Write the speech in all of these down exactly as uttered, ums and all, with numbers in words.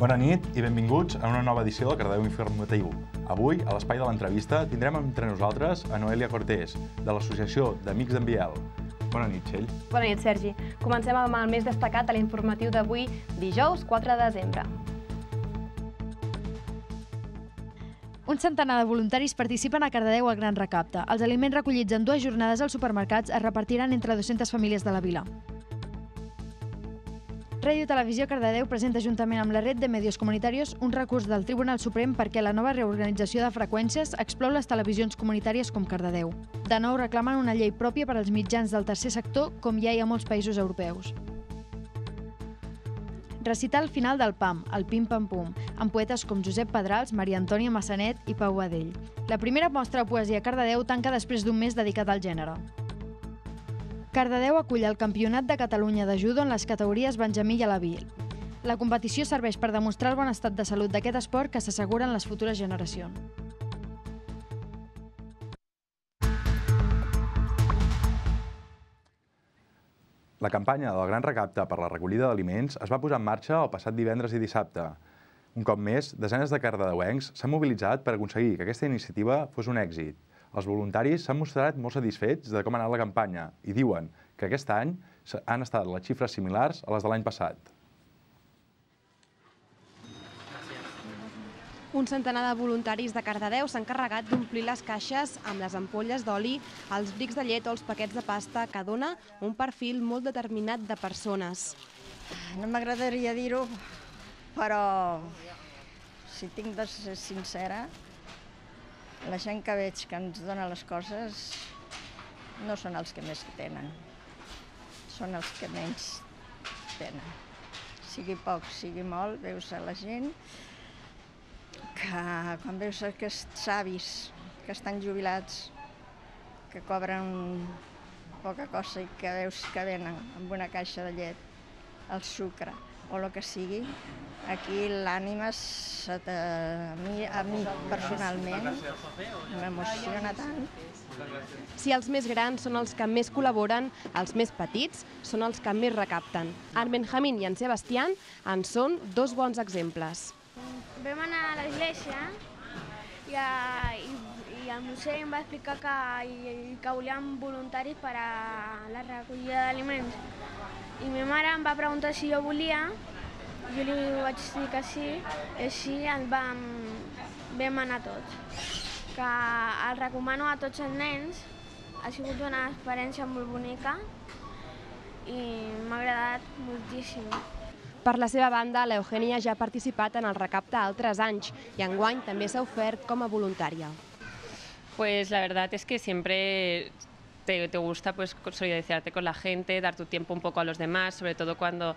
Bona nit i benvinguts a una nova edició del Cardedeu Informatiu. Avui, a l'espai de l'entrevista, tindrem entre nosaltres a Noelia Cortés, de l'Associació d'Amics d'en Biel. Bona nit, Txell. Bona nit, Sergi. Comencem amb el més destacat de l'informatiu d'avui, dijous quatre de desembre. Un centenar de voluntaris participen a Cardedeu al Gran Recapte. Els aliments recollits en dues jornades als supermercats es repartiran entre dues-centes famílies de la vila. Ràdio Televisió Cardedeu presenta juntament amb la Red de Medios Comunitarios un recurs del Tribunal Suprem perquè la nova reorganització de freqüències exclou les televisions comunitàries com Cardedeu. De nou reclamen una llei pròpia per als mitjans del tercer sector com ja hi ha a molts països europeus. Recital final del P A M, el Pim Pam Pum, amb poetes com Josep Pedrals, Maria Antònia Massanet i Pau Badell. La primera mostra de poesia a Cardedeu tanca després d'un mes dedicat al gènere. Cardedeu acull el Campionat de Catalunya de judo en les categories Benjamí i Alaví. La competició serveix per demostrar el bon estat de salut d'aquest esport que s'asseguren les futures generacions. La campanya del Gran Recapte per la recollida d'aliments es va posar en marxa el passat divendres i dissabte. Un cop més, desenes de cardedeuencs s'han mobilitzat per aconseguir que aquesta iniciativa fos un èxit. Els voluntaris s'han mostrat molt satisfets de com ha anat la campanya i diuen que aquest any han estat les xifres similars a les de l'any passat. Un centenar de voluntaris de Cardedeu s'han encarregat d'omplir les caixes amb les ampolles d'oli, els brics de llet o els paquets de pasta, que dona un perfil molt determinat de persones. No m'agradaria dir-ho, però si tinc de ser sincera, la gent que veig que ens dona les coses no són els que més tenen, són els que menys tenen. Sigui poc, sigui molt, veus a la gent que quan veus aquests avis que estan jubilats, que cobren poca cosa i que veus que venen amb una caixa de llet, el sucre o el que sigui, aquí l'ànima, a mi, a mi personalment, m'emociona tant. Si els més grans són els que més col·laboren, els més petits són els que més recapten. En Benjamín i en Sebastián en són dos bons exemples. Vam anar a l'església i, i, i el museu em va explicar que, que volíem voluntaris per a la recollida d'aliments. I ma mare em va preguntar si jo volia, jo li vaig dir que sí, i així el vam, vam anar tots. Que el recomano a tots els nens, ha sigut una experiència molt bonica i m'ha agradat moltíssim. Per la seva banda, l'Eugènia ja ha participat en el recapte altres anys i enguany també s'ha ofert com a voluntària. Pues la verdad es que siempre te, te gusta pues solidarizarte con la gente, dar tu tiempo un poco a los demás, sobre todo cuando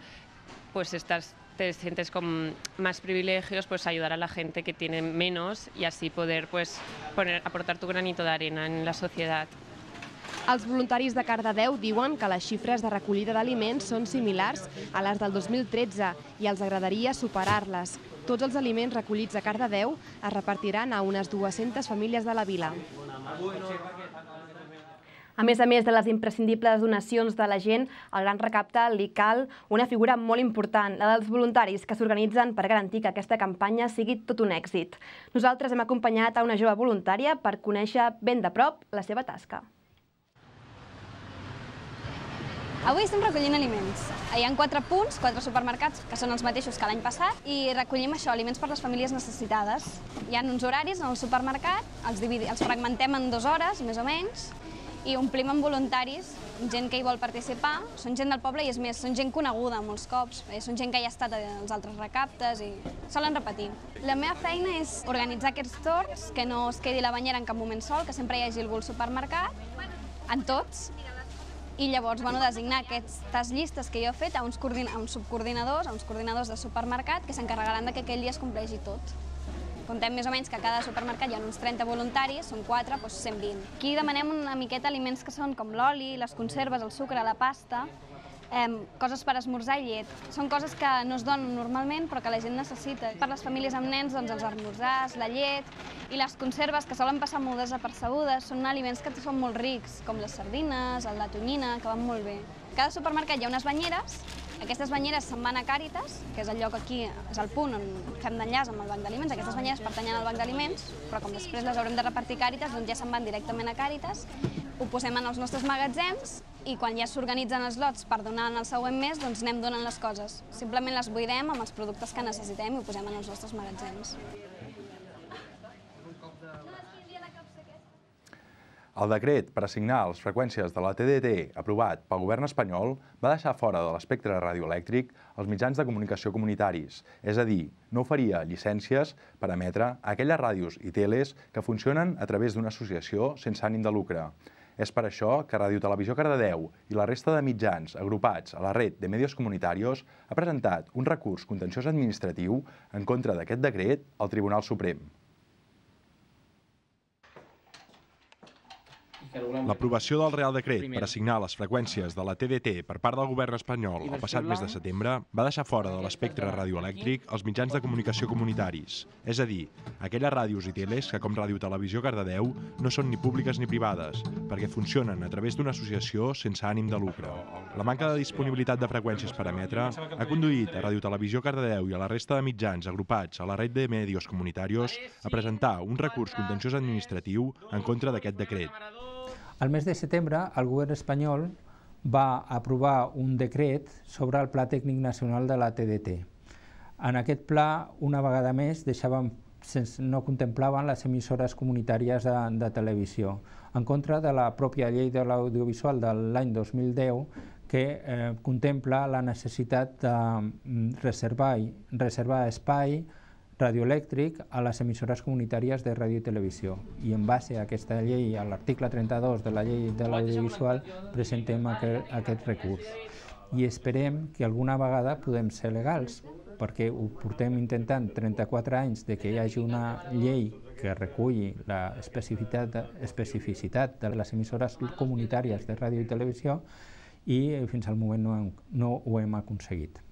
pues estás, te sientes con más privilegios, pues ayudar a la gente que tiene menos y así poder pues poner, aportar tu granito de arena en la sociedad. Els voluntaris de Cardedeu diuen que les xifres de recollida d'aliments són similars a les del dos mil tretze i els agradaria superar-les. Tots els aliments recollits a Cardedeu es repartiran a unes dues-centes famílies de la vila. A més a més de les imprescindibles donacions de la gent, al Gran Recapte li cal una figura molt important, la dels voluntaris que s'organitzen per garantir que aquesta campanya sigui tot un èxit. Nosaltres hem acompanyat a una jove voluntària per conèixer ben de prop la seva tasca. Avui estem recollint aliments. Hi ha quatre punts, quatre supermercats, que són els mateixos que l'any passat, i recollim això, aliments per a les famílies necessitades. Hi ha uns horaris en el supermercat, els, els fragmentem en dues hores, més o menys, i omplim amb voluntaris, gent que hi vol participar. Són gent del poble i, és més, són gent coneguda molts cops. Són gent que ja ha estat als altres recaptes i solen repetir. La meva feina és organitzar aquests torns, que no es quedi la banyera en cap moment sol, que sempre hi hagi algú al supermercat, en tots, i llavors bueno, designar aquestes llistes que jo he fet a uns, a uns subcoordinadors, a uns coordinadors de supermercat que s'encarregaran que aquell dia es compleixi tot. Contem més o menys que a cada supermercat hi ha uns trenta voluntaris, són quatre, doncs cent vint. Aquí demanem una miqueta aliments que són com l'oli, les conserves, el sucre, la pasta, eh, coses per esmorzar i llet. Són coses que no es donen normalment però que la gent necessita. Per les famílies amb nens, doncs, els esmorzars, la llet i les conserves, que solen passar molt desapercebudes, són aliments que són molt rics, com les sardines, la tonyina, que van molt bé. A cada supermercat hi ha unes banyeres Aquestes banyeres se'n van a Càritas, que és el lloc aquí, és el punt on fem d'enllaç amb el banc d'aliments. Aquestes banyeres pertanyen al banc d'aliments, però com després les haurem de repartir a Càritas, doncs ja se'n van directament a Càritas, ho posem en els nostres magatzems i quan ja s'organitzen els lots per donar en el següent mes, doncs anem donant les coses. Simplement les buidem amb els productes que necessitem i ho posem en els nostres magatzems. El decret per assignar les freqüències de la T D T aprovat pel govern espanyol va deixar fora de l'espectre radioelèctric els mitjans de comunicació comunitaris, és a dir, no oferia llicències per emetre aquelles ràdios i teles que funcionen a través d'una associació sense ànim de lucre. És per això que Ràdio Televisió Cardedeu i la resta de mitjans agrupats a la Red de Medios Comunitarios ha presentat un recurs contenciós administratiu en contra d'aquest decret al Tribunal Suprem. L'aprovació del Real Decret per assignar les freqüències de la T D T per part del govern espanyol el passat mes de setembre va deixar fora de l'espectre radioelèctric els mitjans de comunicació comunitaris, és a dir, aquelles ràdios i teles que, com Ràdio Televisió Cardedeu, no són ni públiques ni privades, perquè funcionen a través d'una associació sense ànim de lucre. La manca de disponibilitat de freqüències per emetre ha conduït a Ràdio Televisió Cardedeu i a la resta de mitjans agrupats a la Red de Medios Comunitarios a presentar un recurs contenciós administratiu en contra d'aquest decret. Al mes de setembre, el govern espanyol va aprovar un decret sobre el Pla Tècnic Nacional de la T D T. En aquest pla, una vegada més, deixaven, no contemplaven les emissores comunitàries de, de televisió, en contra de la pròpia llei de l'audiovisual de l'any dos mil deu, que eh, contempla la necessitat de reservar, reservar espai radioelèctric a les emissores comunitàries de ràdio i televisió. I en base a aquesta llei, a l'article trenta-dos de la llei de l'audiovisual, presentem aquest, aquest recurs. I esperem que alguna vegada podem ser legals, perquè ho portem intentant trenta-quatre anys de que hi hagi una llei que reculli la especificitat, especificitat de les emissores comunitàries de ràdio i televisió i fins al moment no, no ho hem aconseguit.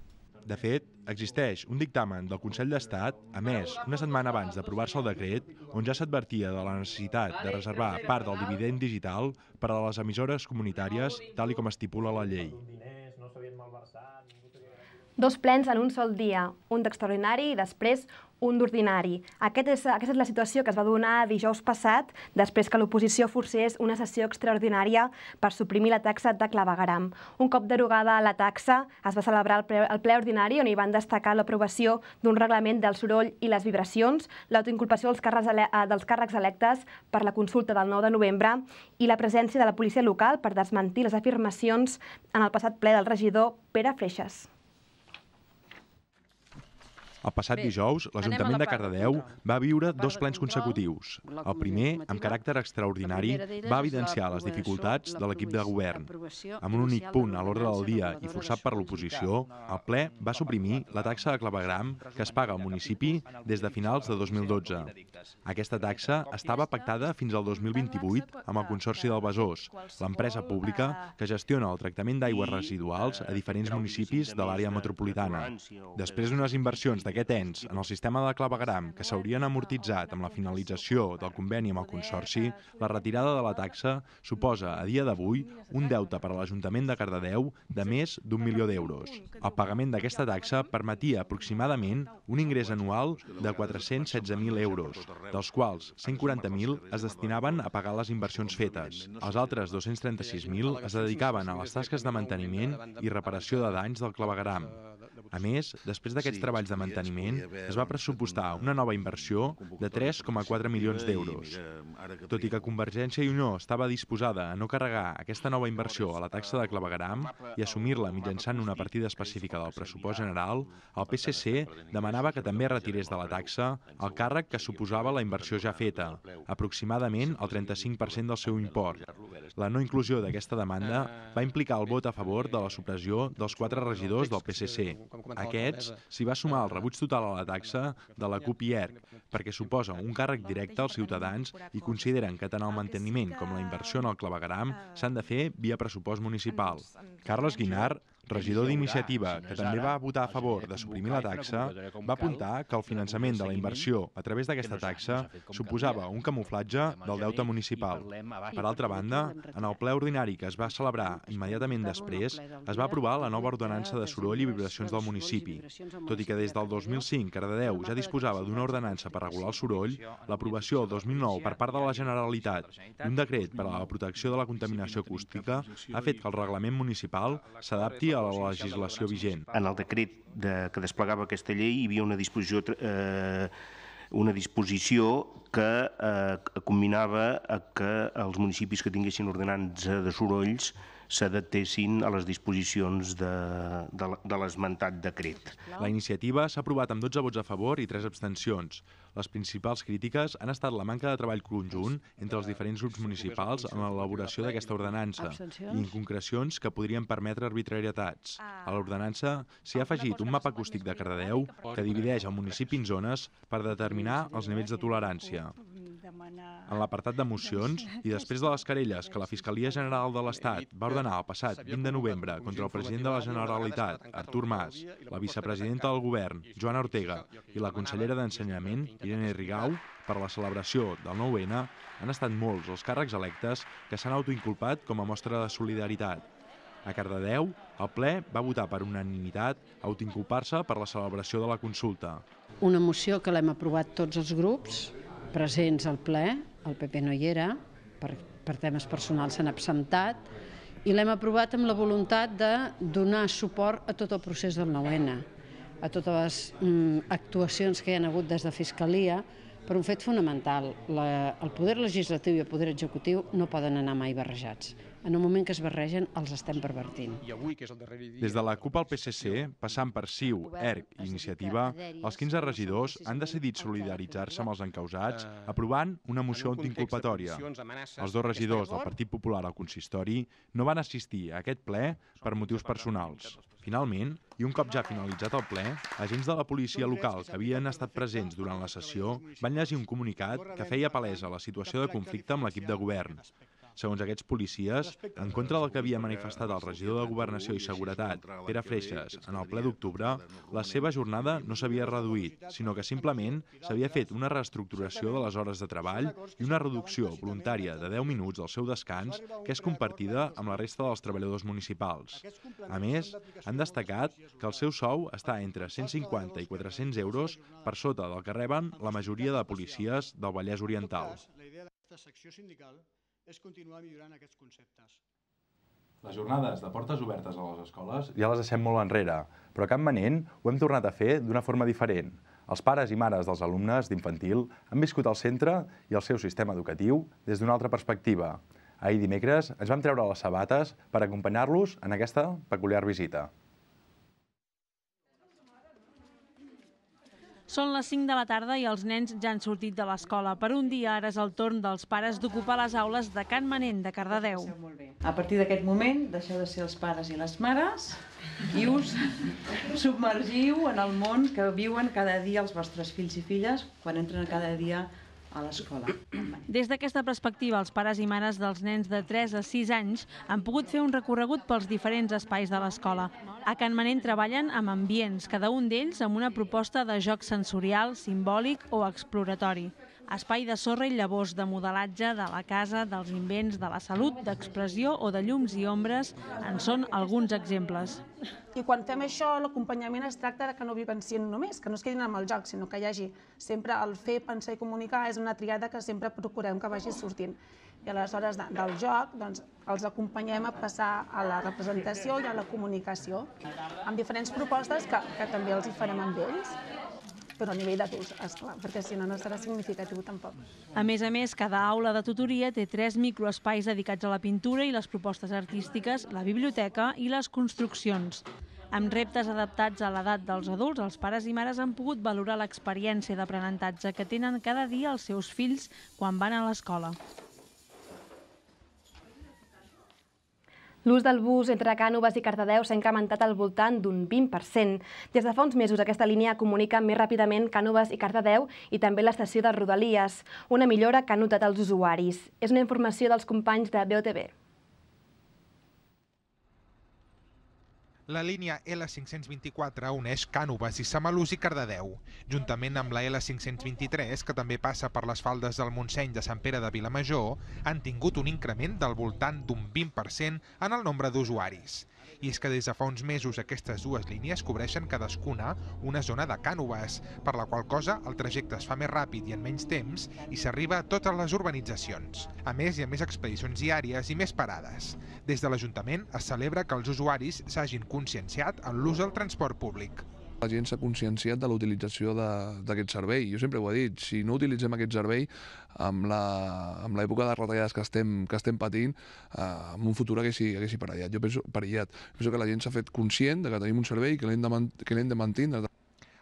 De fet, existeix un dictamen del Consell d'Estat, emès una setmana abans d'aprovar-se el decret, on ja s'advertia de la necessitat de reservar part del dividend digital per a les emissores comunitàries, tal com estipula la llei. Dos plens en un sol dia, un d'extraordinari i després un d'ordinari. Aquest és, aquesta és la situació que es va donar dijous passat, després que l'oposició forcés una sessió extraordinària per suprimir la taxa de clavegueram. Un cop derogada la taxa, es va celebrar el ple, el ple ordinari on hi van destacar l'aprovació d'un reglament del soroll i les vibracions, l'autoinculpació dels, dels càrrecs electes per la consulta del nou de novembre i la presència de la policia local per desmentir les afirmacions en el passat ple del regidor Pere Freixas. El passat dijous, l'Ajuntament de Cardedeu va viure dos plens consecutius. El primer, amb caràcter extraordinari, va evidenciar les dificultats de l'equip de govern. Amb un únic punt a l'ordre del dia i forçat per l'oposició, el ple va suprimir la taxa de clavegueram que es paga al municipi des de finals de dos mil dotze. Aquesta taxa estava pactada fins al dos mil vint-i-vuit amb el Consorci del Besòs, l'empresa pública que gestiona el tractament d'aigües residuals a diferents municipis de l'àrea metropolitana. Després d'unes inversions de aquest ens en el sistema de clavegueram que s'haurien amortitzat amb la finalització del conveni amb el Consorci, la retirada de la taxa suposa a dia d'avui un deute per a l'Ajuntament de Cardedeu de més d'un milió d'euros. El pagament d'aquesta taxa permetia aproximadament un ingrés anual de quatre-cents setze mil euros, dels quals cent quaranta mil es destinaven a pagar les inversions fetes. Els altres dos-cents trenta-sis mil es dedicaven a les tasques de manteniment i reparació de danys del clavegueram. A més, després d'aquests treballs de manteniment, es va pressupostar una nova inversió de tres coma quatre milions d'euros. Tot i que Convergència i Unió estava disposada a no carregar aquesta nova inversió a la taxa de clavegueram i assumir-la mitjançant una partida específica del pressupost general, el P S C demanava que també retirés de la taxa el càrrec que suposava la inversió ja feta, aproximadament el trenta-cinc per cent del seu import. La no inclusió d'aquesta demanda va implicar el vot a favor de la supressió dels quatre regidors del P S C. Aquests s'hi va sumar el rebuig total a la taxa de la CUP i E R C, perquè suposa un càrrec directe als ciutadans i consideren que tant el manteniment com la inversió en el clavegueram s'han de fer via pressupost municipal. Carles Guinart, regidor d'Iniciativa, que també va votar a favor de suprimir la taxa, va apuntar que el finançament de la inversió a través d'aquesta taxa suposava un camuflatge del deute municipal. Per altra banda, en el ple ordinari que es va celebrar immediatament després, es va aprovar la nova ordenança de soroll i vibracions del municipi. Tot i que des del dos mil cinc Cardedeu ja disposava d'una ordenança per regular el soroll, l'aprovació el dos mil nou per part de la Generalitat d'un decret per a la protecció de la contaminació acústica ha fet que el reglament municipal s'adapti a la legislació vigent. En el decret de, que desplegava aquesta llei hi havia una disposició, eh, una disposició que eh, combinava a que els municipis que tinguessin ordenança de sorolls s'adaptessin a les disposicions de, de, de l'esmentat decret. La iniciativa s'ha aprovat amb dotze vots a favor i tres abstencions. Les principals crítiques han estat la manca de treball conjunt entre els diferents grups municipals en l'elaboració d'aquesta ordenança i inconcrecions que podrien permetre arbitrarietats. A l'ordenança s'hi ha afegit un mapa acústic de Cardedeu que divideix el municipi en zones per determinar els nivells de tolerància. En l'apartat de mocions, i després de les querelles que la Fiscalia General de l'Estat va ordenar el passat vint de novembre contra el president de la Generalitat, Artur Mas, la vicepresidenta del govern, Joana Ortega, i la consellera d'Ensenyament, Irene Rigau, per la celebració del nou ene, han estat molts els càrrecs electes que s'han autoinculpat com a mostra de solidaritat. A Cardedeu, el ple va votar per unanimitat autoinculpar-se per la celebració de la consulta. Una moció que l'hem aprovat tots els grups presents al ple, el P P no hi era, per, per temes personals s'han absentat, i l'hem aprovat amb la voluntat de donar suport a tot el procés del nou ene, a totes les mm, actuacions que hi ha hagut des de Fiscalia, per un fet fonamental. La, el poder legislatiu i el poder executiu no poden anar mai barrejats. En el moment que es barregen, els estem pervertint. Des de la CUP al P S C, passant per C I U, E R C i Iniciativa, els quinze regidors han decidit solidaritzar-se amb els encausats aprovant una moció autoinculpatòria. Els dos regidors del Partit Popular al consistori no van assistir a aquest ple per motius personals. Finalment, i un cop ja finalitzat el ple, agents de la policia local que havien estat presents durant la sessió van llegir un comunicat que feia palesa la situació de conflicte amb l'equip de govern. Segons aquests policies, en contra del que havia manifestat el regidor de Governació i Seguretat, Pere Freixas, en el ple d'octubre, la seva jornada no s'havia reduït, sinó que simplement s'havia fet una reestructuració de les hores de treball i una reducció voluntària de deu minuts del seu descans que és compartida amb la resta dels treballadors municipals. A més, han destacat que el seu sou està entre cent cinquanta i quatre-cents euros per sota del que reben la majoria de policies del Vallès Oriental. És continuar millorant aquests conceptes. Les jornades de portes obertes a les escoles ja les deixem molt enrere, però a Can Manent ho hem tornat a fer d'una forma diferent. Els pares i mares dels alumnes d'infantil han viscut el centre i el seu sistema educatiu des d'una altra perspectiva. Ahir dimecres ens vam treure les sabates per acompanyar-los en aquesta peculiar visita. Són les cinc de la tarda i els nens ja han sortit de l'escola. Per un dia ara és el torn dels pares d'ocupar les aules de Can Manent de Cardedeu. A partir d'aquest moment deixeu de ser els pares i les mares i us submergiu en el món que viuen cada dia els vostres fills i filles quan entren cada dia a l'escola. Des d'aquesta perspectiva, els pares i mares dels nens de tres a sis anys han pogut fer un recorregut pels diferents espais de l'escola. A Can Manent treballen amb ambients, cada un d'ells amb una proposta de joc sensorial, simbòlic o exploratori. Espai de sorra i llavors, de modelatge, de la casa, dels invents, de la salut, d'expressió o de llums i ombres en són alguns exemples. I quan fem això, l'acompanyament es tracta de que no vivencien només, que no es quedin amb el joc, sinó que hi hagi sempre el fer, pensar i comunicar és una triada que sempre procurem que vagi sortint. I aleshores del joc els acompanyem a passar a la representació i a la comunicació, amb diferents propostes que també els hi farem amb ells, però a nivell d'adults, esclar, perquè si no no serà significatiu tampoc. A més a més, cada aula de tutoria té tres microespais dedicats a la pintura i les propostes artístiques, la biblioteca i les construccions. Amb reptes adaptats a l'edat dels adults, els pares i mares han pogut valorar l'experiència d'aprenentatge que tenen cada dia els seus fills quan van a l'escola. L'ús del bus entre Cànoves i Cardedeu s'ha incrementat al voltant d'un vint per cent. Des de fa uns mesos aquesta línia comunica més ràpidament Cànoves i Cardedeu i també l'estació de Rodalies, una millora que han notat els usuaris. És una informació dels companys de B O T B. La línia L cinc-cents vint-i-quatre uneix Cànoves i Samalús i Cardedeu, juntament amb la L cinc-cents vint-i-tres, que també passa per les faldes del Montseny de Sant Pere de Vilamajor, han tingut un increment del voltant d'un vint per cent en el nombre d'usuaris. I és que des de fa uns mesos aquestes dues línies cobreixen cadascuna una zona de Cànoves, per la qual cosa el trajecte es fa més ràpid i en menys temps i s'arriba a totes les urbanitzacions. A més, hi ha més expedicions diàries i més parades. Des de l'Ajuntament es celebra que els usuaris s'hagin conscienciat en l'ús del transport públic. La gent s'ha conscienciat de la utilització d'aquest servei. Jo sempre ho he dit, si no utilitzem aquest servei, amb l'època de retallades que estem, que estem patint, eh, en un futur haguessi, haguessi perillat. Jo penso, perillat. penso que la gent s'ha fet conscient de que tenim un servei que l'hem de, que l'hem de mantindre.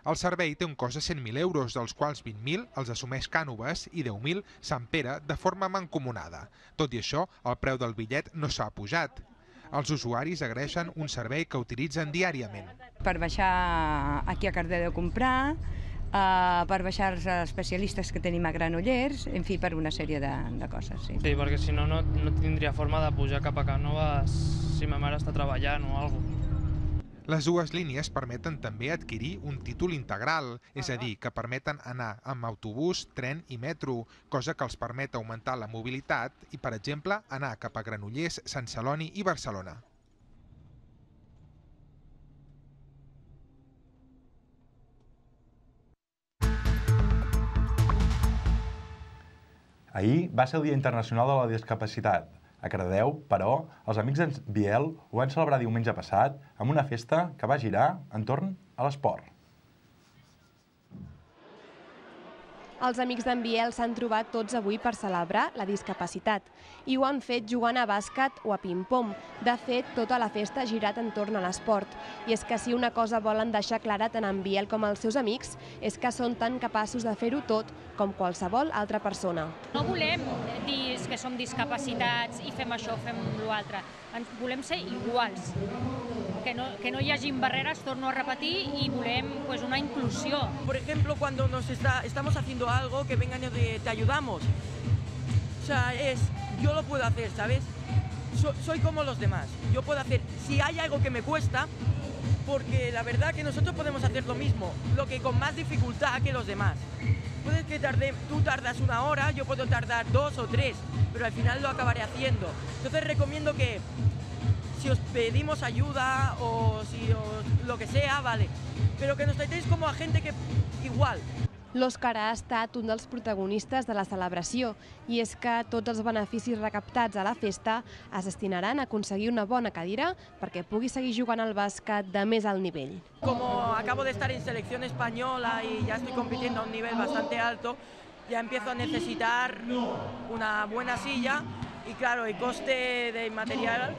El servei té un cost de cent mil euros, dels quals vint mil els assumeix Cànoves i deu mil Sant Pere de forma mancomunada. Tot i això, el preu del bitllet no s'ha pujat. Els usuaris agraeixen un servei que utilitzen diàriament. Per baixar aquí a Cardedeu a comprar, eh, per baixar els especialistes que tenim a Granollers, en fi, per una sèrie de, de coses. Sí, sí perquè si no, no, no tindria forma de pujar cap a Cànoves si ma mare està treballant o alguna cosa. Les dues línies permeten també adquirir un títol integral, és a dir, que permeten anar amb autobús, tren i metro, cosa que els permet augmentar la mobilitat i, per exemple, anar cap a Granollers, Sant Celoni i Barcelona. Ahir va ser el Dia Internacional de la Discapacitat. A Cardedeu, però, els amics d'en Biel ho van celebrar diumenge passat amb una festa que va girar entorn a l'esport. Els amics d'en Biel s'han trobat tots avui per celebrar la discapacitat i ho han fet jugant a bàsquet o a ping-pong. De fet, tota la festa ha girat entorn a l'esport. I és que si una cosa volen deixar clara tant en Biel com els seus amics és que són tan capaços de fer-ho tot com qualsevol altra persona. No volem dir que som discapacitats i fem això, fem l'altre. Volem ser iguals. Que no, que no hi hagin barreres, torno a repetir, y volem pues, una inclusión. Por ejemplo, cuando nos está, estamos haciendo algo, que vengan y te ayudamos. O sea, es, yo lo puedo hacer, ¿sabes? So, soy como los demás. Yo puedo hacer, si hay algo que me cuesta, porque la verdad que nosotros podemos hacer lo mismo, lo que con más dificultad que los demás. Puede que tarde, tú tardas una hora, yo puedo tardar dos o tres, pero al final lo acabaré haciendo. Entonces recomiendo que si os pedimos ayuda o si os, lo que sea, vale, pero que nos tratéis como a gente que igual. L'Òscar ha estat un dels protagonistes de la celebració i és que tots els beneficis recaptats a la festa es destinaran a aconseguir una bona cadira perquè pugui seguir jugant al bàsquet de més alt nivell. Como acabo de estar en selección española y ya estoy compitiendo a un nivel bastante alto, ya empiezo a necesitar una buena silla y claro, el coste del material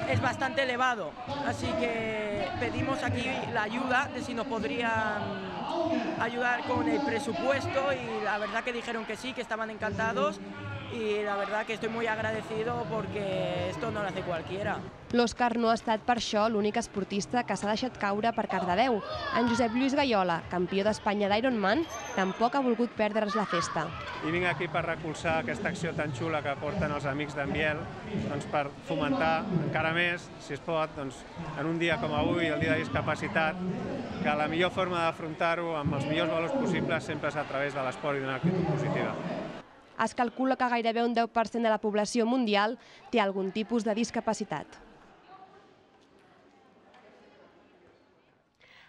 es bastante elevado, así que pedimos aquí la ayuda de si nos podrían ayudar con el presupuesto y la verdad que dijeron que sí, que estaban encantados y la verdad que estoy muy agradecido porque esto no lo hace cualquiera. L'Òscar no ha estat per això l'únic esportista que s'ha deixat caure per Cardedeu. En Josep Lluís Gaiola, campió d'Espanya d'Ironman, tampoc ha volgut perdre's la festa. I vinc aquí per recolzar aquesta acció tan xula que porten els amics d'en Biel, doncs per fomentar encara més, si es pot, doncs, en un dia com avui, el dia de discapacitat, que la millor forma d'afrontar-ho amb els millors valors possibles sempre és a través de l'esport i d'una actitud positiva. Es calcula que gairebé un deu per cent de la població mundial té algun tipus de discapacitat.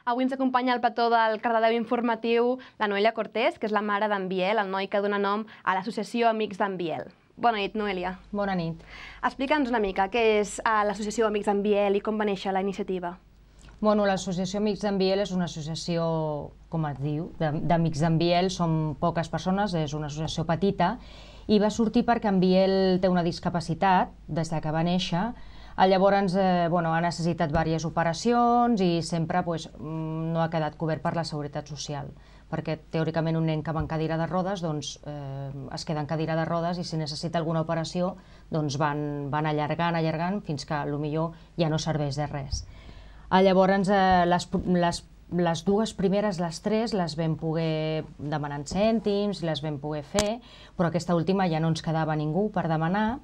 Avui ens acompanya al plató del Cardedeu Informatiu la Noelia Cortés, que és la mare d'en Biel, el noi que dona nom a l'associació Amics d'en Biel. Bona nit, Noelia. Bona nit. Explica'ns una mica què és l'associació Amics d'en Biel i com va néixer la iniciativa. Bueno, l'associació Amics d'en Biel és una associació, com es diu, d'Amics d'en Biel. Som poques persones, és una associació petita, i va sortir perquè en Biel té una discapacitat des que va néixer. Llavors ha necessitat diverses operacions i sempre no ha quedat cobert per la Seguretat Social, perquè teòricament un nen que va en cadira de rodes es queda en cadira de rodes i si necessita alguna operació van allargant, allargant, fins que potser ja no serveix de res. Llavors les dues primeres, les tres, les vam poder demanar en cèntims, les vam poder fer, però aquesta última ja no ens quedava ningú per demanar.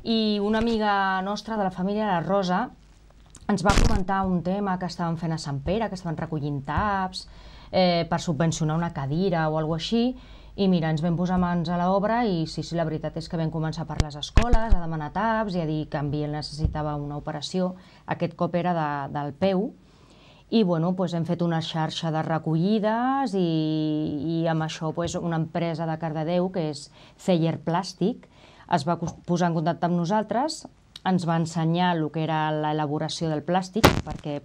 I una amiga nostra de la família, la Rosa, ens va comentar un tema que estaven fent a Sant Pere, que estaven recollint taps per subvencionar una cadira o alguna cosa així, i mira, ens vam posar mans a l'obra i sí, sí, la veritat és que vam començar per les escoles a demanar taps i a dir que en Biel necessitava una operació, aquest cop era del peu, i bueno, hem fet una xarxa de recollides i amb això una empresa de Cardedeu, que és Celler Plàstic, es va posar en contacte amb nosaltres, ens va ensenyar el que era l'elaboració del plàstic perquè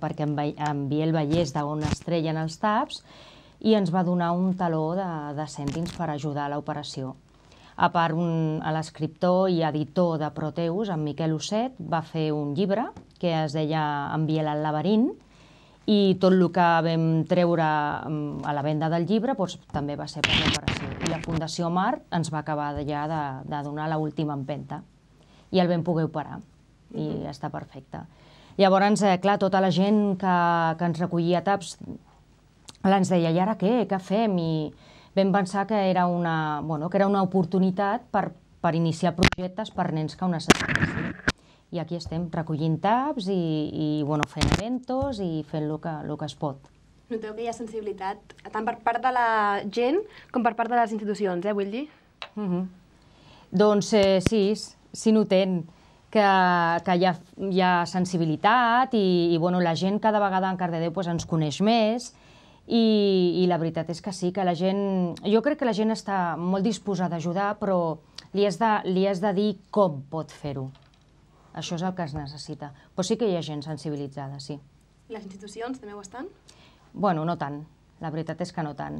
en Biel veiés d'on es treien els taps i ens va donar un taló de cèntims per ajudar a l'operació. A part, l'escriptor i editor de Proteus, en Miquel Osset, va fer un llibre que es deia En Biel al laberint, i tot el que vam treure a la venda del llibre també va ser per l'operació. I la Fundació Mar ens va acabar ja de donar l'última empenta i el vam poder operar i està perfecte. Llavors, clar, tota la gent que ens recollia taps ens deia, i ara què? Què fem? I vam pensar que era una oportunitat per iniciar projectes per nens que ho necessitessin. I aquí estem, recollint taps i fent eventos i fent el que es pot. Noteu que hi ha sensibilitat tant per part de la gent com per part de les institucions, eh, vull dir? Doncs sí, sí notem que hi ha sensibilitat i la gent cada vegada en Cardedeu ens coneix més i la veritat és que sí, que la gent... Jo crec que la gent està molt disposada a ajudar, però li has de dir com pot fer-ho. Això és el que es necessita. Però sí que hi ha gent sensibilitzada, sí. I les institucions també ho estan? Bueno, no tant. La veritat és que no tant.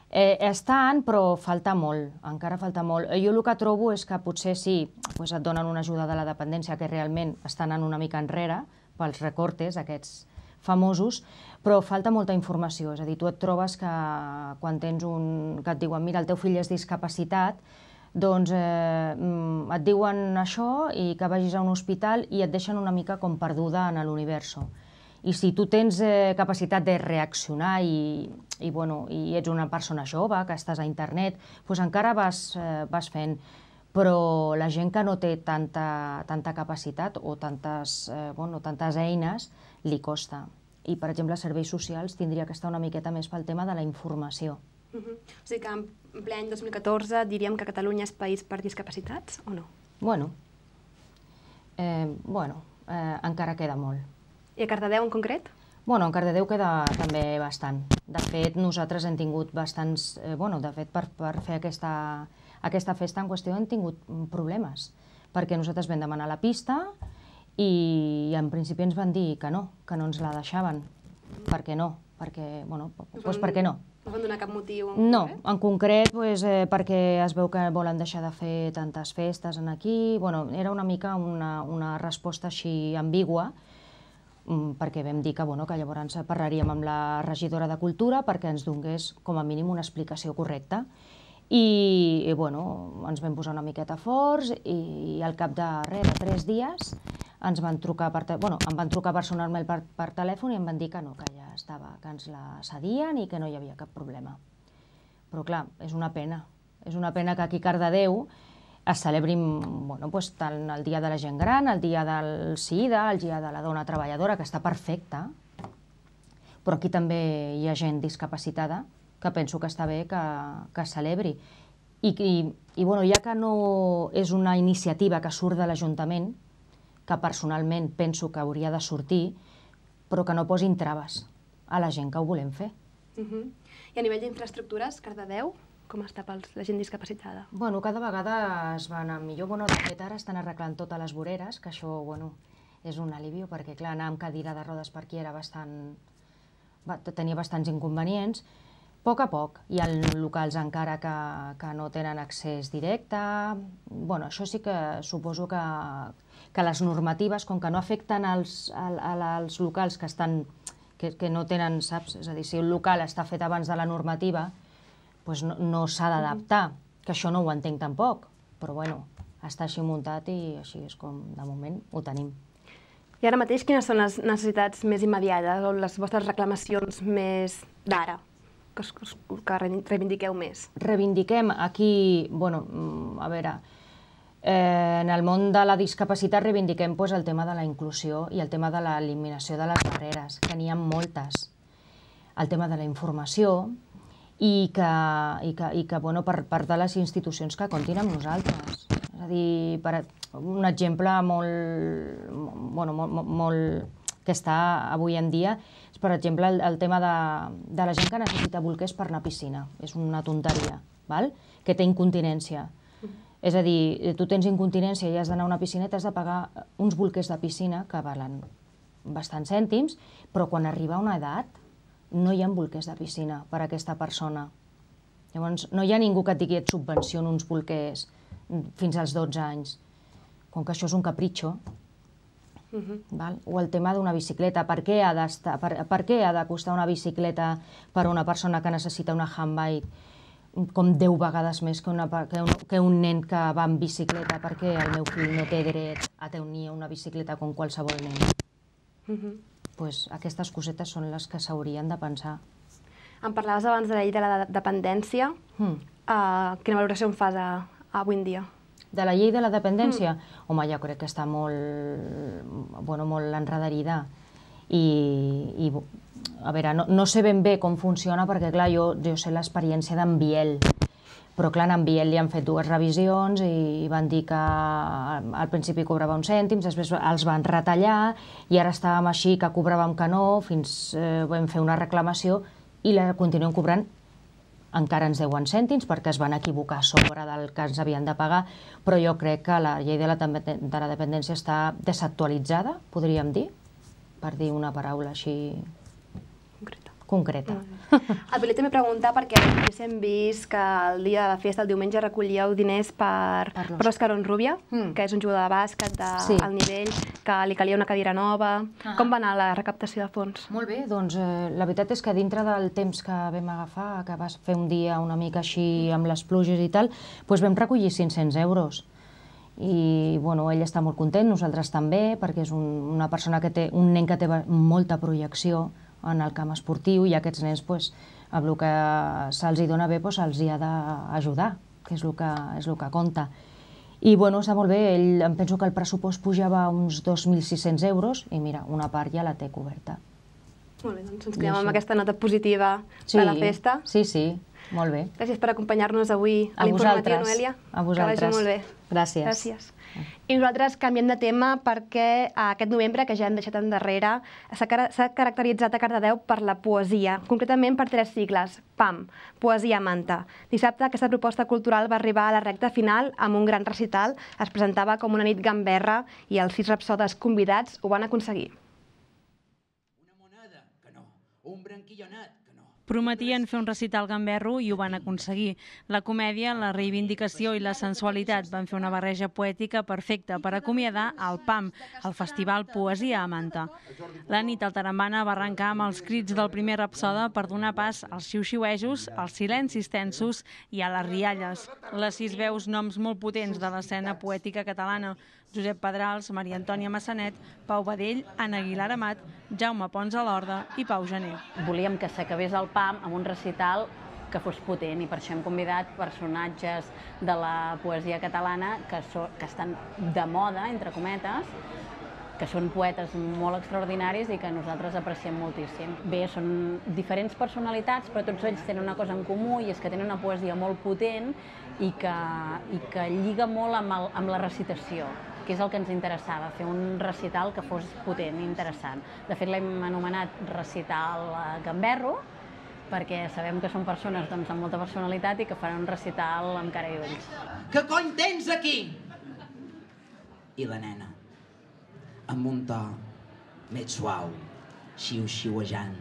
Estan, però falta molt. Encara falta molt. Jo el que trobo és que potser sí, et donen una ajuda de la dependència que realment estan anant una mica enrere pels recortes, aquests famosos, però falta molta informació. És a dir, tu et trobes que quan tens un... que et diuen, mira, el teu fill és discapacitat, doncs et diuen això i que vagis a un hospital i et deixen una mica com perduda en l'universo. I si tu tens capacitat de reaccionar i ets una persona jove, que estàs a internet, doncs encara vas fent. Però la gent que no té tanta capacitat o tantes eines li costa. I, per exemple, serveis socials tindria que estar una miqueta més pel tema de la informació. O sigui que en ple any dos mil catorze diríem que Catalunya és país per discapacitats o no? Bueno, bueno, encara queda molt. I a Cardedeu en concret? Bueno, en Cardedeu queda també bastant. De fet, nosaltres hem tingut bastants... Bueno, de fet, per fer aquesta festa en qüestió hem tingut problemes, perquè nosaltres vam demanar la pista i en principi ens van dir que no, que no ens la deixaven. Per què no? Perquè, bueno, doncs per què no? No van donar cap motiu? No, en concret perquè es veu que volen deixar de fer tantes festes aquí. Era una mica una resposta així ambigua, perquè vam dir que llavors parlaríem amb la regidora de Cultura perquè ens donés com a mínim una explicació correcta. I ens vam posar una miqueta forts i al cap de tres dies ens van trucar personalment per telèfon i em van dir que no, que ja estava, que ens la cedien i que no hi havia cap problema. Però clar, és una pena. És una pena que aquí a Cardedeu es celebrin tant el Dia de la Gent Gran, el Dia del SIDA, el Dia de la Dona Treballadora, que està perfecte, però aquí també hi ha gent discapacitada que penso que està bé que es celebri. I ja que no és una iniciativa que surt de l'Ajuntament, que personalment penso que hauria de sortir, però que no posin traves a la gent que ho volem fer. I a nivell d'infraestructures, Cardedeu, com està per la gent discapacitada? Bueno, cada vegada es va anar millor. De fet, ara estan arreglant totes les voreres, que això és un alivio, perquè clar, anar amb cadira de rodes per aquí era bastant... tenia bastants inconvenients. A poc a poc. Hi ha locals encara que no tenen accés directe. Això sí que suposo que les normatives, com que no afecten als locals que no tenen, saps? És a dir, si un local està fet abans de la normativa, no s'ha d'adaptar, que això no ho entenc tampoc. Però bueno, està així muntat i així és com de moment ho tenim. I ara mateix quines són les necessitats més immediates o les vostres reclamacions més d'ara? Que reivindiqueu més? Reivindiquem aquí, bueno, a veure, En el món de la discapacitat reivindiquem el tema de la inclusió i el tema de l'eliminació de les barreres, que n'hi ha moltes. El tema de la informació i que per de les institucions que comptin amb nosaltres. És a dir, un exemple molt que està avui en dia és, per exemple, el tema de la gent que necessita bolquers per anar a piscina. És una tonteria, que té incontinència. És a dir, tu tens incontinència i has d'anar a una piscina i t'has de pagar uns bolquers de piscina que valen bastants cèntims, però quan arriba a una edat no hi ha bolquers de piscina per a aquesta persona. Llavors, no hi ha ningú que et digui et subvenciona uns bolquers fins als dotze anys. Com que això és un capritxo. O el tema d'una bicicleta. Per què ha de costar una bicicleta per a una persona que necessita una handbike com deu vegades més que un nen que va en bicicleta, perquè el meu fill no té dret a tenir una bicicleta com qualsevol nen. Aquestes cosetes són les que s'haurien de pensar. Em parlaves abans de la llei de la dependència. Quina valoració en fas avui en dia? De la llei de la dependència? Home, jo crec que està molt enredarida. I, a veure, no sé ben bé com funciona, perquè, clar, jo sé l'experiència d'en Biel, però, clar, en Biel li han fet dues revisions i van dir que al principi cobrava uns cèntims, després els van retallar i ara estàvem així que cobràvem que no, fins vam fer una reclamació i la continuem cobrant. Encara ens deuen cèntims perquè es van equivocar sobre del que ens havien de pagar, però jo crec que la llei de la dependència està desactualitzada, podríem dir, per dir una paraula així concreta. El Billy també pregunta perquè hem vist que el dia de la festa, el diumenge, recollíeu diners per Òscar Onrubia, que és un jugador de bàsquet d'alt nivell, que li calia una cadira nova. Com va anar la recaptació de fons? Molt bé, doncs la veritat és que dintre del temps que vam agafar, que vas fer un dia una mica així amb les pluges i tal, doncs vam recollir cinc-cents euros. I ell està molt content, nosaltres també, perquè és una persona que té, un nen que té molta projecció en el camp esportiu i aquests nens, amb el que se'ls dona bé, se'ls ha d'ajudar, que és el que compta. I està molt bé, em penso que el pressupost pujava uns dos mil sis-cents euros i mira, una part ja la té coberta. Molt bé, doncs ens quedem amb aquesta nota positiva de la festa. Sí, sí, molt bé. Gràcies per acompanyar-nos avui a l'informatiu, Noelia. A vosaltres. Que vagi molt bé. Gràcies. Gràcies. I nosaltres canviem de tema perquè aquest novembre, que ja hem deixat endarrere, s'ha caracteritzat a Cardedeu per la poesia, concretament per tres sigles, P A M, Poesia a Manta. Dissabte aquesta proposta cultural va arribar a la recta final amb un gran recital, es presentava com una nit gamberra i els sis rapsodes convidats ho van aconseguir. Una moneda, que no. Un branquillonat, Prometien fer un recital gamberro i ho van aconseguir. La comèdia, la reivindicació i la sensualitat van fer una barreja poètica perfecta per acomiadar el P A M, el Festival Poesia a Manta. La nit al Tarambana va arrencar amb els crits del primer rapsoda per donar pas als xiu-xiuejos, als silencis tensos i a les rialles. Les sis veus noms molt potents de l'escena poètica catalana: Josep Pedrals, Maria Antònia Massanet, Pau Badell, Anna Aguilar Amat, Jaume Pons a l'Horda i Pau Gené. Volíem que s'acabés el P A M amb un recital que fos potent i per això hem convidat personatges de la poesia catalana que estan de moda, entre cometes, que són poetes molt extraordinaris i que nosaltres apreciem moltíssim. Bé, són diferents personalitats, però tots ells tenen una cosa en comú i és que tenen una poesia molt potent i que lliga molt amb la recitació, que és el que ens interessava, fer un recital que fos potent i interessant. De fet, l'hem anomenat recital gamberro, perquè sabem que són persones amb molta personalitat i que faran un recital amb cara i ulls. Què cony tens aquí? I la nena, amb un to més suau, xiu-xiuejant,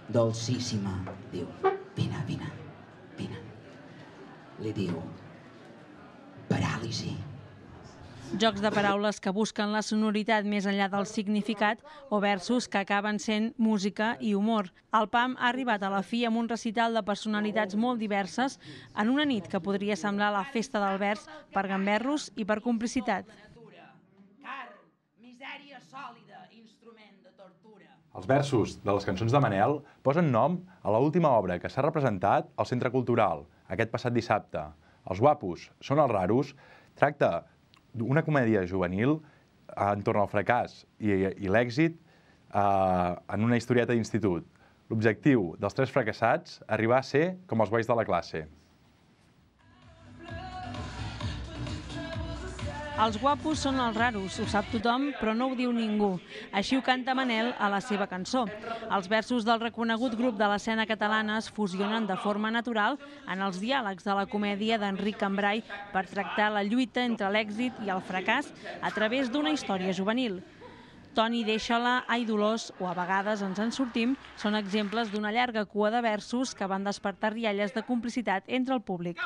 dolcíssima, diu: vine, vine, vine. Li diu: paràlisi. Jocs de paraules que busquen la sonoritat més enllà del significat o versos que acaben sent música i humor. El P A M ha arribat a la fi amb un recital de personalitats molt diverses en una nit que podria semblar la festa del vers per gamberros i per complicitat. Els versos de les cançons de Manel posen nom a l'última obra que s'ha representat al Centre Cultural aquest passat dissabte. Els guapos són els raros tracta una comèdia juvenil entorn al fracàs i l'èxit en una historieta d'institut. L'objectiu dels tres fracassats, arribar a ser com els guais de la classe. Els guapos són els raros, ho sap tothom, però no ho diu ningú. Així ho canta Manel a la seva cançó. Els versos del reconegut grup de l'escena catalana es fusionen de forma natural en els diàlegs de la comèdia d'Enric Cambray per tractar la lluita entre l'èxit i el fracàs a través d'una història juvenil. Toni, deixa-la, Ai, Dolors, o A vegades ens en sortim, són exemples d'una llarga cua de versos que van despertar rialles de complicitat entre el públic.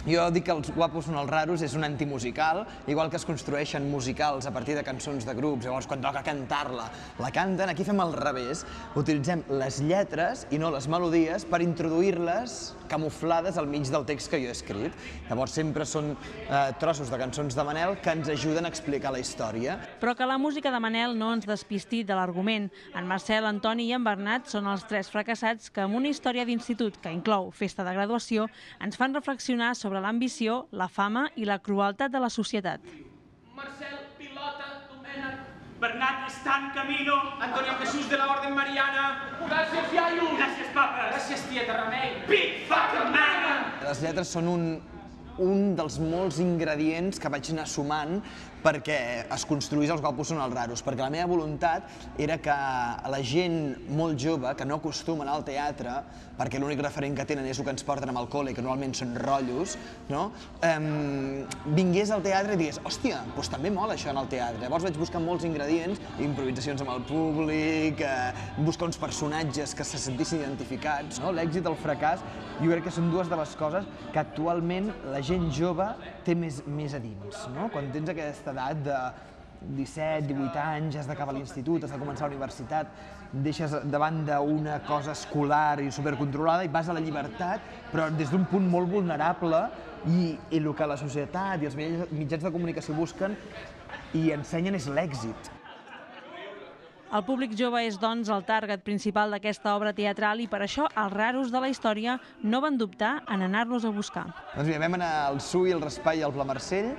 Jo dic que Els guapos són els raros és un antimusical, igual que es construeixen musicals a partir de cançons de grups, llavors quan toca cantar-la, la canten, aquí fem al revés, utilitzem les lletres i no les melodies per introduir-les camuflades al mig del text que jo he escrit. Llavors sempre són trossos de cançons de Manel que ens ajuden a explicar la història. Però que la música de Manel no ens despisti de l'argument. En Marcel, en Toni i en Bernat són els tres fracassats que amb una història d'institut que inclou festa de graduació ens fan reflexionar sobre l'ambició, la fama i la crueltat de la societat. Marcel, pilota, Domènec, Bernat està en camino, Antonio Jesús de la Orden Mariana. Gràcies, iaio. Gràcies, papa. Gràcies, tieta Remei. Big fucking man! Les lletres són un un dels molts ingredients que vaig anar sumant perquè es construís Els guapos són els raros, perquè la meva voluntat era que la gent molt jove, que no acostuma a anar al teatre, perquè l'únic referent que tenen és el que ens porten amb el col·le, que normalment són rotllos, vingués al teatre i digués, hòstia, doncs també mola això en el teatre. Llavors vaig buscar molts ingredients, improvisacions amb el públic, buscar uns personatges que se sentissin identificats. L'èxit i el fracàs jo crec que són dues de les coses que actualment la gent jove té més a dins. Quan tens aquesta edat de disset, divuit anys, has d'acabar l'institut, has de començar la universitat, deixes davant d'una cosa escolar i supercontrolada i vas a la llibertat, però des d'un punt molt vulnerable i el que la societat i els mitjans de comunicació busquen i ensenyen és l'èxit. El públic jove és, doncs, el target principal d'aquesta obra teatral i per això els raros de la història no van dubtar en anar-los a buscar. Doncs mira, vam anar al Su i el Raspall i al Pla Marcell.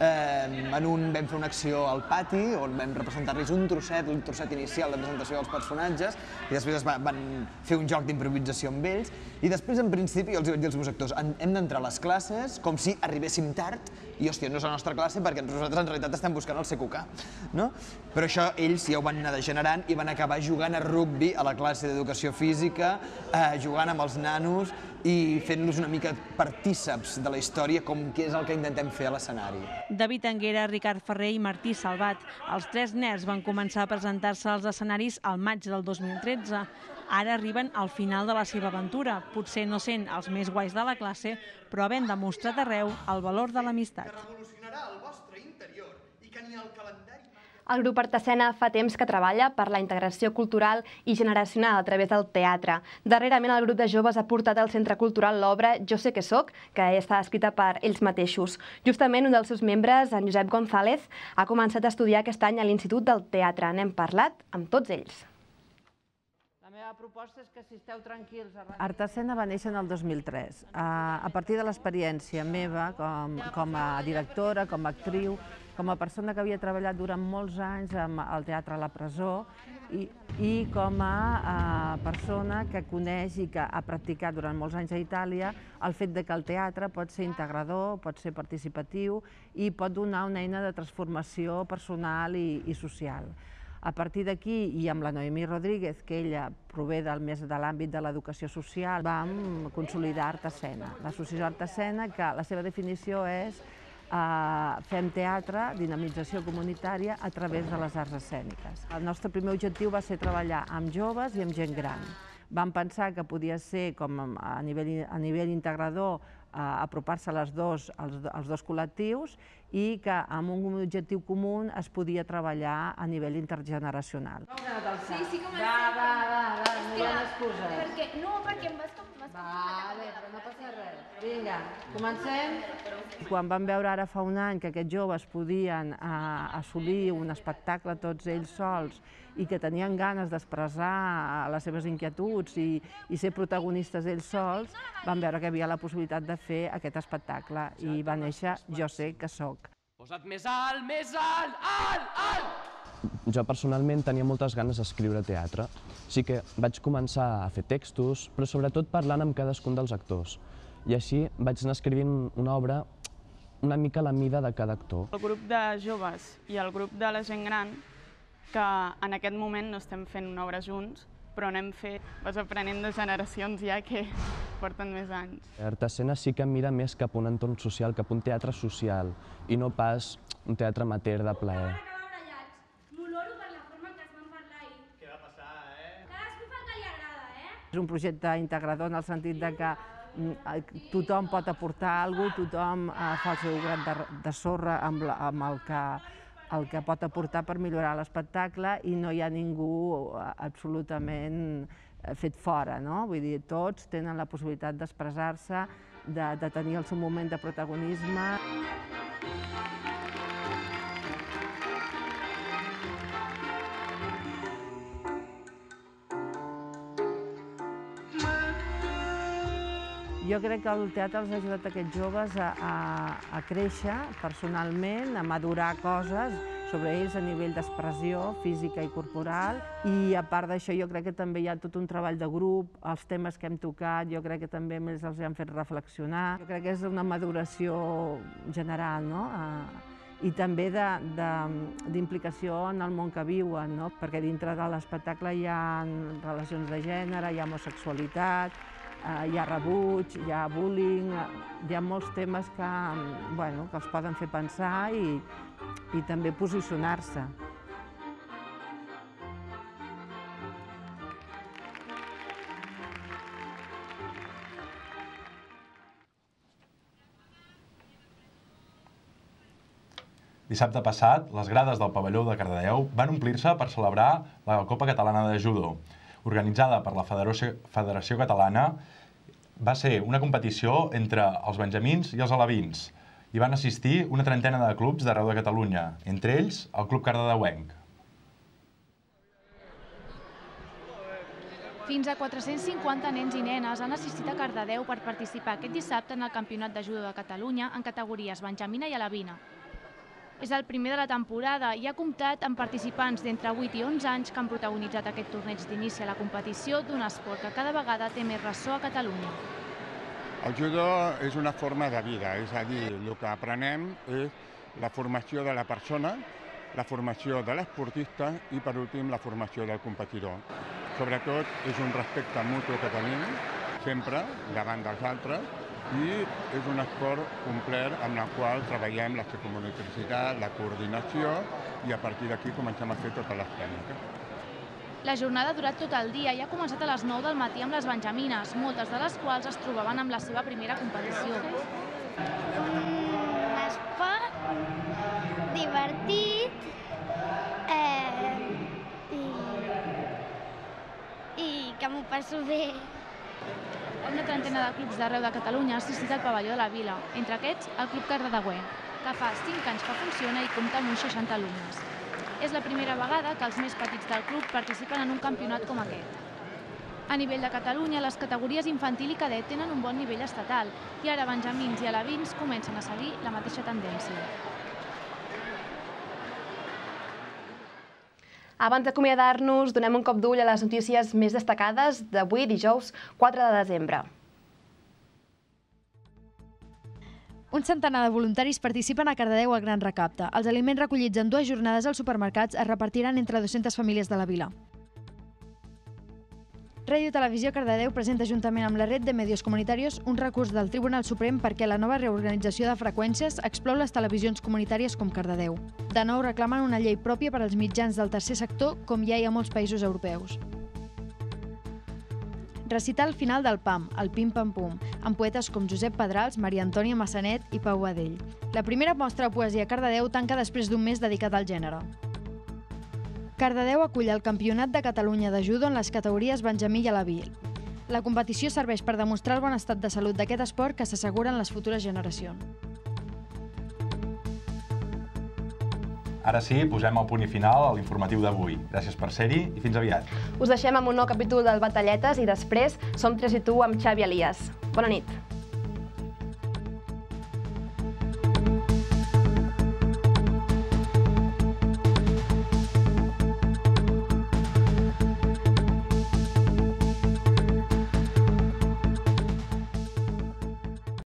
En un vam fer una acció al pati on vam representar-los un trosset, un trosset inicial de presentació dels personatges i després van fer un joc d'improvisació amb ells i després, en principi, els vaig dir als meus actors hem d'entrar a les classes com si arribéssim tard i, hòstia, no és la nostra classe perquè nosaltres en realitat estem buscant el C Q K. Però això ells ja ho van anar degenerant i van acabar jugant a rugbi a la classe d'educació física, jugant amb els nanos i fent-los una mica partíceps de la història com que és el que intentem fer a l'escenari. David Anguera, Ricard Ferrer i Martí Salvat. Els tres nerds van començar a presentar-se als escenaris al maig del dos mil tretze. Ara arriben al final de la seva aventura, potser no sent els més guais de la classe, però havent demostrat arreu el valor de l'amistat. Que revolucionarà el vostre interior i que ni el calendari... El grup Artesena fa temps que treballa per la integració cultural i generacional a través del teatre. Darrerament el grup de joves ha portat al Centre Cultural l'obra Jo sé que soc, que està escrita per ells mateixos. Justament un dels seus membres, en Josep González, ha començat a estudiar aquest any a l'Institut del Teatre. N'hem parlat amb tots ells. La meva proposta és que si esteu tranquils... Artesena va néixer en el dos mil tres. A partir de l'experiència meva com a directora, com a actriu, com a persona que havia treballat durant molts anys al teatre a la presó i com a persona que coneix i que ha practicat durant molts anys a Itàlia el fet que el teatre pot ser integrador, pot ser participatiu i pot donar una eina de transformació personal i social. A partir d'aquí, i amb la Noemí Rodríguez, que ella prové més de l'àmbit de l'educació social, vam consolidar Artesena. L'associació Artesena, que la seva definició és fem teatre, dinamització comunitària a través de les arts escèniques. El nostre primer objectiu va ser treballar amb joves i amb gent gran. Vam pensar que podia ser, com a nivell integrador, apropar-se als dos col·lectius i que amb un objectiu comú es podia treballar a nivell intergeneracional. Sí, sí, comencem. Va, va, va, no hi ha excuses. No, perquè em vas com... Vale, però no passa res. Vinga, comencem. Quan vam veure ara fa un any que aquests joves podien assolir un espectacle tots ells sols i que tenien ganes d'expressar les seves inquietuds i ser protagonistes ells sols, vam veure que hi havia la possibilitat de fer aquest espectacle i va néixer Jo sé que soc. Posa't més alt, més alt, alt, alt! Jo personalment tenia moltes ganes d'escriure teatre. Sí que vaig començar a fer textos, però sobretot parlant amb cadascun dels actors. I així vaig anar escrivint una obra una mica a la mida de cada actor. El grup de joves i el grup de la gent gran, que en aquest moment no estem fent una obra junts, però anem fet, vas aprenent de generacions ja que porten més anys. Artescena sí que mira més cap a un entorn social, cap a un teatre social, i no pas un teatre amateur de plaer. És un projecte integrador en el sentit de que tothom pot aportar alguna cosa, tothom fa el seu gram de sorra amb el que, el que pot aportar per millorar l'espectacle i no hi ha ningú absolutament fet fora, no? Vull dir, tots tenen la possibilitat d'expressar-se, de, de tenir el seu moment de protagonisme. Jo crec que el teatre els ha ajudat a aquests joves a, a, a créixer personalment, a madurar coses sobre ells a nivell d'expressió física i corporal. I a part d'això jo crec que també hi ha tot un treball de grup, els temes que hem tocat, jo crec que també més els han fet reflexionar. Jo crec que és una maduració general, no? I també d'implicació en el món que viuen, no? Perquè dintre de l'espectacle hi ha relacions de gènere, hi ha homosexualitat, hi ha rebuig, hi ha bullying, hi ha molts temes que, bueno, que els poden fer pensar i, i també posicionar-se. Dissabte passat, les grades del pavelló de Cardedeu van omplir-se per celebrar la Copa Catalana de Judo. Organitzada per la Federació, Federació Catalana, va ser una competició entre els benjamins i els alevins. Hi van assistir una trentena de clubs d'arreu de Catalunya, entre ells el Club Cardedeuenc. Fins a quatre-cents cinquanta nens i nenes han assistit a Cardedeu per participar aquest dissabte en el Campionat de Judo de Catalunya en categories benjamina i alevina. És el primer de la temporada i ha comptat amb participants d'entre vuit i onze anys que han protagonitzat aquest torneig d'inici a la competició d'un esport que cada vegada té més ressò a Catalunya. El judo és una forma de vida, és a dir, el que aprenem és la formació de la persona, la formació de l'esportista i, per últim, la formació del competidor. Sobretot, és un respecte mutu que tenim sempre davant dels altres i és un esport complet amb el qual treballem la psicomotricitat, la coordinació i a partir d'aquí comencem a fer totes les tècniques. La jornada ha durat tot el dia i ha començat a les nou del matí amb les benjamines, moltes de les quals es trobaven amb la seva primera competició. Un esport divertit eh, i, i que m'ho passo bé. Una trentena de clubs d'arreu de Catalunya ha assistit al pavelló de la vila, entre aquests el Club Cardedeuenc, que fa cinc anys que funciona i compta amb uns seixanta alumnes. És la primera vegada que els més petits del club participen en un campionat com aquest. A nivell de Catalunya, les categories infantil i cadet tenen un bon nivell estatal i ara benjamins i alevins comencen a seguir la mateixa tendència. Abans d'acomiadar-nos, donem un cop d'ull a les notícies més destacades d'avui, dijous quatre de desembre. Un centenar de voluntaris participen a Cardedeu al Gran Recapte. Els aliments recollits en dues jornades als supermercats es repartiran entre dues-centes famílies de la vila. Ràdio Televisió Cardedeu presenta juntament amb la Red de Medios Comunitarios un recurs del Tribunal Suprem perquè la nova reorganització de freqüències exclou les televisions comunitàries com Cardedeu. De nou reclamen una llei pròpia per als mitjans del tercer sector com ja hi ha a molts països europeus. Recital final del P A M, el Pim Pam Pum, amb poetes com Josep Pedrals, Maria Antònia Massanet i Pau Badell. La primera mostra de poesia a Cardedeu tanca després d'un mes dedicat al gènere. Cardedeu acull el Campionat de Catalunya de Judo en les categories benjamí i aleví. La competició serveix per demostrar el bon estat de salut d'aquest esport que s'asseguren les futures generacions. Ara sí, posem el punt i final a l'informatiu d'avui. Gràcies per ser-hi i fins aviat. Us deixem amb un nou capítol del Batalletes i després Som tres i tu amb Xavi Elias. Bona nit.